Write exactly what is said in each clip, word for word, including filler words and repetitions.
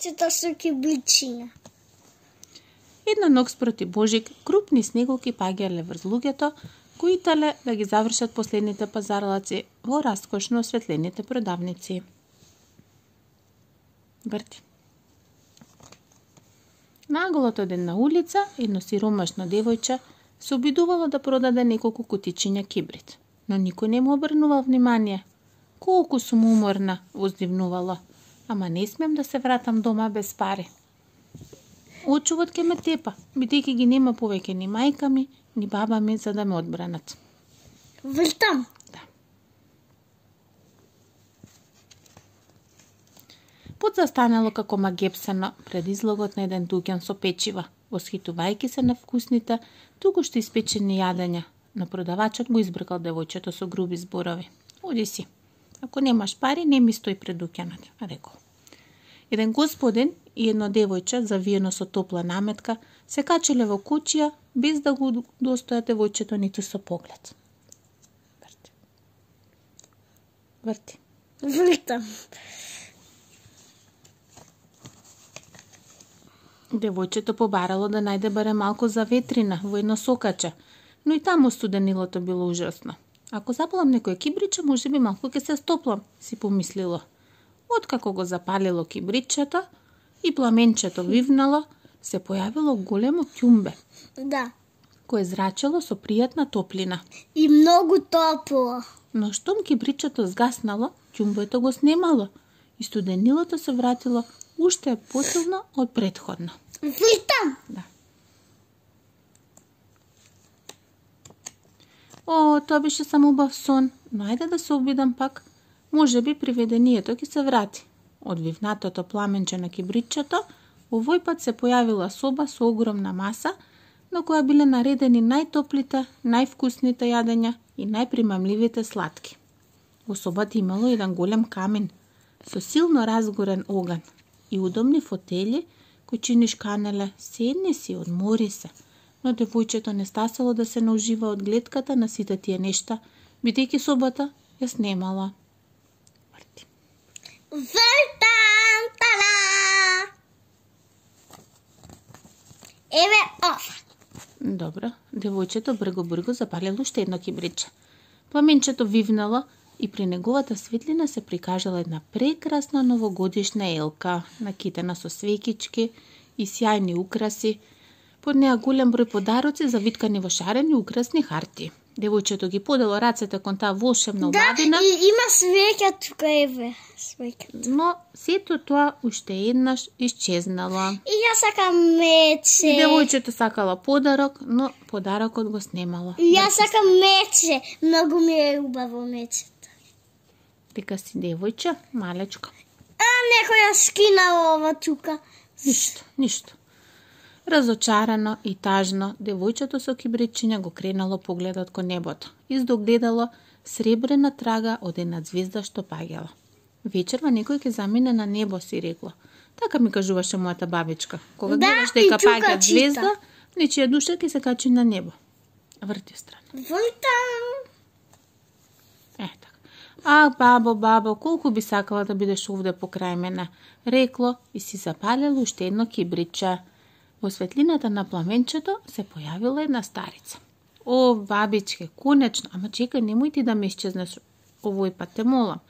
девојчето со кибричиња. Една ног спроти Божик, крупни снеголки паѓале врз луѓето, кои итале да ги завршат последните пазарлаци во раскошно осветлените продавници. Врти. Наголот од една улица, едно сиромашно девојче се обидувало да продаде неколку кутичиња кибрит, но никој не му обрнувал внимание. Колку сум уморна, воздивнувало, ама не смем да се вратам дома без пари. Очувот ке ме тепа, бидејќи ги нема повеќе ни мајка ми, ни баба ми за да ме одбранат. Вртам. Да. Пут застанало како магепсано пред излогот на еден дуќан со печива, восхитувајќи се на вкусните, туку што испечени јадења, но продавачот го избркал девојчето со груби зборови. Оди си. Ако немаш пари, не ми стои пред дуќанот, рекол. Еден господин и едно девојче, завиено со топла наметка, се качеле во куќија, без да го достоја девојчето ниту со поглед. Врти. Врти. Вртам. Девојчето побарало да најде баре малку за ветрина во едно сокаче, но и таму студенилото било ужасно. Ако запалам некој кибриче, може би малку ќе се стоплам, си помислило. Откако го запалило кибричето и пламенчето вивнало, се појавило големо ќумбе. Да. Кое зрачело со пријатна топлина. И многу топло. Но штом кибричето згаснало, ќумбето го снемало и студенилото се вратило уште посилно од претходно. Вртам. Да. О, тоа беше само убав сон, но ајде да се обидам пак. Може би приведението ќе се врати. Од вивнатото пламенче на кибричето, овој пат се појавила соба со огромна маса, на која биле наредени најтоплите, највкусните јадења и најпримамливите сладки. Во собата имало еден голем камин со силно разгорен оган и удобни фотели кои чиниш канеле, седни си, одмори се. Но девојчето не стасало да се наужива од гледката на сите тие нешта, бидејќи собата ја снемала. Врти. Вртам, тала! Еве ова. Добро, девојчето брго-брго запалило уште едно кибриче. Пламенчето вивнало и при неговата светлина се прикажала една прекрасна новогодишна елка, накитена со свекички и сјајни украси, под неа голем број подароци завиткани во шарени украсни харти. Девојчето ги подело рацете кон таа волшебна убавина. Да, и има свеќа тука, еве, свеќа. Но сето тоа уште еднаш исчезнало. И ја сакам мече. Девојчето сакала подарок, но подарокот го снемало. И ја сакам мече. Многу ми е убаво мечето. Дека си девојче, малечко. А, некој ја скинала ова тука. Ништо, ништо. Разочарано и тажно, девојчето со кибричиња го кренало погледот кон небото. Издогледало сребрена трага од една звезда што паѓала. Вечерва некој ќе замине на небо, си рекло. Така ми кажуваше мојата бабичка. Кога да, гледаш дека паѓа чита. звезда, нечија душа ќе се качи на небо. Врти страна. Вртам. Е, така. А, бабо, бабо, колку би сакала да бидеш овде покрај мене, рекло и си запалило уште едно кибриче. Во светлината на пламенчето се појавила една старица. О, бабичке, конечно, ама чекај, немој ти да ме исчезнеш овој пат, те молам.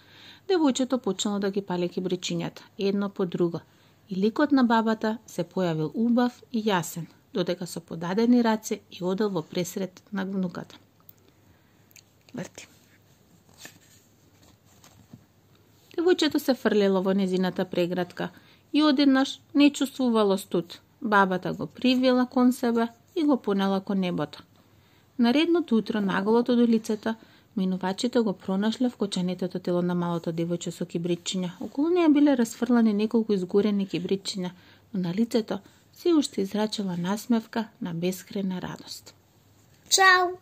Девојчето почнало да ги пали кибричињата, едно по друго, и ликот на бабата се појавил убав и јасен, додека со подадени раце и одел во пресред на внуката. Врти. Девојчето се фрлело во незината преградка и одеднаш не чувствувало студ. Бабата го привела кон себе и го понела кон небото. Наредното утро, наголото од улицата, минувачите го пронашле вкоченетото тело на малото девојче со кибричиња. Околу неа биле расфрлани неколку изгорени кибричиња, но на лицето се уште израчала насмевка на бескрајна радост. Чао!